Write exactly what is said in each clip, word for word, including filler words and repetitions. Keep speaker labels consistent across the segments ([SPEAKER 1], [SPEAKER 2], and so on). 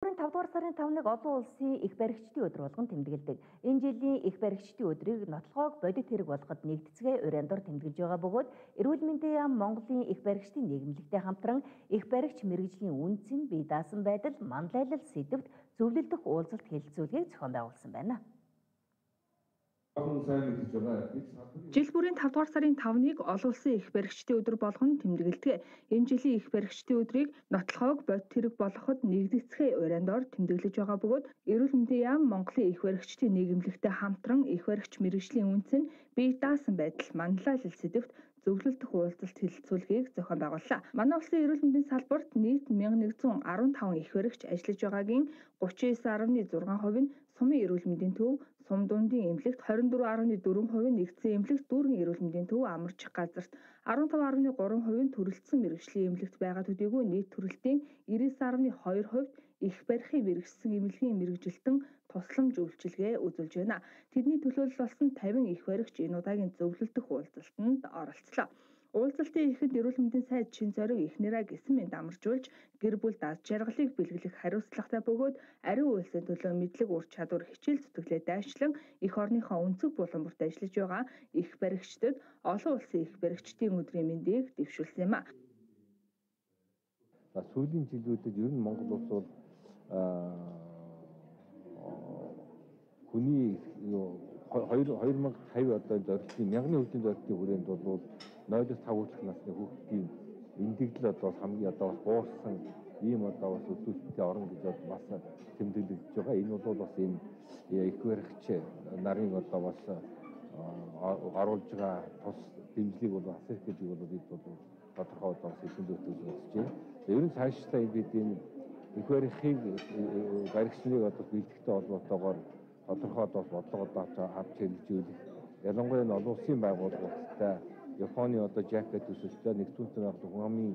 [SPEAKER 1] тавдугаар сарын тавныг олон улсын их баригчдын өдөр болгон тэмдэглэдэг. Энэ жилийн их баригчдын өдрийг нотлохоог бодит хэрэг болгоход нэгдэцгээ урьяндор тэмдэглэж байгаа бөгөөд эрүүл мэндийн яам Монголын их баригчдын нийгэмлэгтэй хамтран их баригч мэргэжлийн үнцэн бие даасан байдал, манлайлал сэдвт зөвлөлдөх уулзалт хэлэлцүүлгийг зохион байгуулсан байна.
[SPEAKER 2] Жил бүрийн тавдугаар сарын тавныг олон улсын их баригчдын өдөр болгон тэмдэглэдэг. Энэ жилийн их баригчдын өдрийг нотлохоог бодит хэрэг болгоход нэгдэцгээ урьяндор тэмдэглэж байгаа бөгөөд эрүүл мэндийн яам Монголын их баригчдын нийгэмлэгтэй хамтран их баригч мэргэжлийн үнцэн бие даасан байдал, манлайлал сэдвт зөвлөлдөх уулзалт хэлэлцүүлгийг зохион байгууллаа. Манай улсын эрүүл мэндийн салбарт нийт мянган нэгдсэн арван таван их баригч ажиллаж байгаагийн гучин девять дасалж зургаан хувь нь сумын эрүүл мэндийн төв, сум дундын эмнэлэгт двадцать четыре дасалж четыре хувь нь нэгдсэн эмнэлэгт дүүрэн эрүүл мэндийн төв амарчих газарт арван таван дасалж три хувь нь төрөлцсөн мэргэжлийн эмнэлэгт байгаа төдийгүй нийт төрөлтийн девяносто дасалж two хувьд их барихыг мэргэжсэн эмнэлгийн мэргэжилтэн тусламж үйлчилгээ үзүүлж байна. Тэдний төлөөлөл болсон тавин их баригч энэ удаагийн зөвлөлдөх уулзалтанд оролцлоо. Уулзалтын эхэнд эрүүл мэндийн сайд чин зориг эхнэрээ гисэн мэнд амаржуулж гэр бүл даз жаргалыг бэлгэлэх хариуцлагатай бөгөөд ариун үйлсийн төлөө мэдлэг ур чадвар хичээл зүтгэлээ дайчлан эх орныхоо өнцөг булан бүрт ажиллаж байгаа их баригчдад олон улсын их баригчдын өдрийн мэндийг дэвшүүлсэн юм а.
[SPEAKER 3] За сүүлийн жилүүдэд ер нь Монгол улс бол хүний хоёр мянга цавь одоо зорилтын мянганы хүчний зорилтын хүрээнд бол нойлоос тав хүртэлх насны хүүхдийн эндэгдэл одоо хамгийн одоо бас буурсан ийм одоо бас үзүүлэлттэй орон гэж бас тэмдэглэж байгаа. Энэ бол бас энэ их баригч нарын одоо бас оруулж байгаа тус дэмжлэг бол асар их гэж бол бид бол тодорхой одоо сэдвүүдэд үзэж байна. Ер нь цаашдаа бид энэ их барихыг баригчныг одоо бэлтгэхтэй холбоотойгоор тодорхой одоо бодлого одоо авч хэрэгжүүлэх. Ялангуяа нь олон улсын байгууллагуудтай Японы одоо жакет төсөлтөд нэгдүгээр байгаль хүмүүний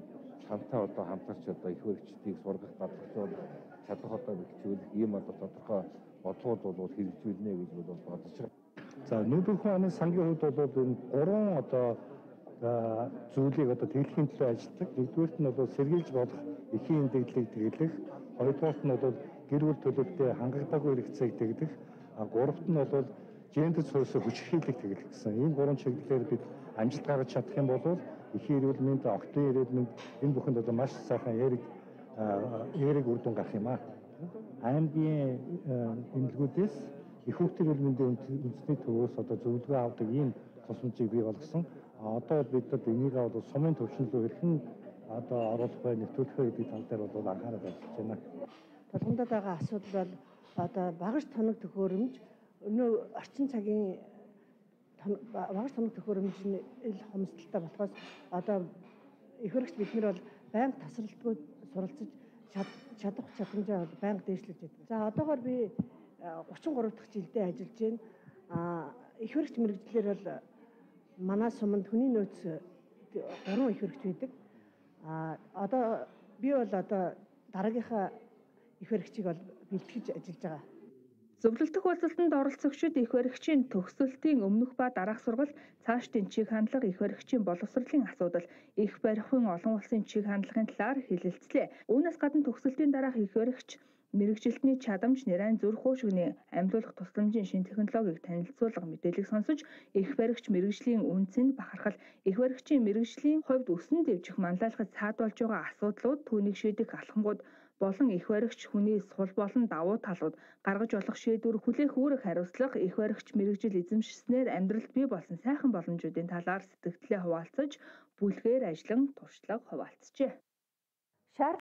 [SPEAKER 3] хамтаа одоо хамтарч одоо их баригчдыг сургах, гадагшуулах, чадах одоо бэлтжүүлэх ийм одоо тодорхой бодлогууд бол хэрэгжүүлнэ гэж бол бодож байна.
[SPEAKER 4] За нүүдэлхэн оны сангийн хувьд бол энэ гурван одоо зүйлийг одоо тэглэхийн төлөө ажилладаг. Нэгдүгээрт нь бол сэргийлж болох эхийн эндэгдлийг тэглэх, хоёрдугаарт нь бол гэр бүл төлөвтэй хангагдаагүй хэрэгцээг тэгдэх, а гуравт нь бол гендер суурьсыг хүчирхийлэх тэглэх гэсэн. Энэ гурван чиглэлээр бид амжилт гаргаж чадах юм бол эхийн эрүүл мэнд, октын эрүүл мэнд энэ бүхэнд одоо маш сайхан яриг яриг үр дүн гарах юм а. Аймгийн эмнэлгүүдээс их хүүхдийн эрүүл мэндийн үндэсний төвөөс одоо зөвлөгөө авдаг ийм тусламжийг бий болгосон. Одоо бидэд энийг бол сумын төвшин рүү хэрхэн одоо оруулах бай, нэвтрүүлэх бай гэдэг тал дээр бол анхаарал тавьж байна.
[SPEAKER 5] Тулгамдад байгаа асуудал бол одоо багаж тоног төхөөрөмж өнөө орчин цагийн багаж тоног төхөөрөмж нь ил хомсдолтой болохоос одоо их баригч бид нар бол байнга тасралтгүй суралцж чадах чадамжаа бол байнга дээшлэж байдаг. За одоогоор би гучин гурав дахь жилдээ ажиллаж байна. А их баригч мэргэжлэр бол манай суманд хүний нөөц гурван их баригч байдаг. А одоо би бол одоо дараагийнхаа их баригчийг бол бэлтгэж ажиллаж байгаа.
[SPEAKER 2] Зөвлөлдөх уулзалтанд оролцогчид их баригчийн төгсөлтийн өмнөх ба дараах сургалт, цаашдын чиг хандлага, их баригчийн боловсролын асуудал, их барихын олон улсын чиг хандлагын талаар хэлэлцлээ. Үүнээс гадна төгсөлтийн дараах их баригч мэргэжилтний чадамж, нэрайн зүрх уушгины амьлуулах тусламжийн шинэ технологиг танилцуулга мэдээлэл сонсож, их баригч мэргэжлийн үнцэнд бахархал, их баригчийн мэргэжлийн хувьд өсөн дэвжих манлайлахад саадуулж байгаа асуудлууд, түүнийг шийдэх алхамгууд болон их баригч хүний сул болон давуу талууд, гаргаж болох шийдвэр, хүлээх үүрэг хариуцлага, их баригч мэргэжил эзэмшснээр амьдралд бий болсон сайхан боломжуудын талаар сэтгэгдлээ хуваалцаж, бүлгээр ажиллан туршлага хуваалцжээ.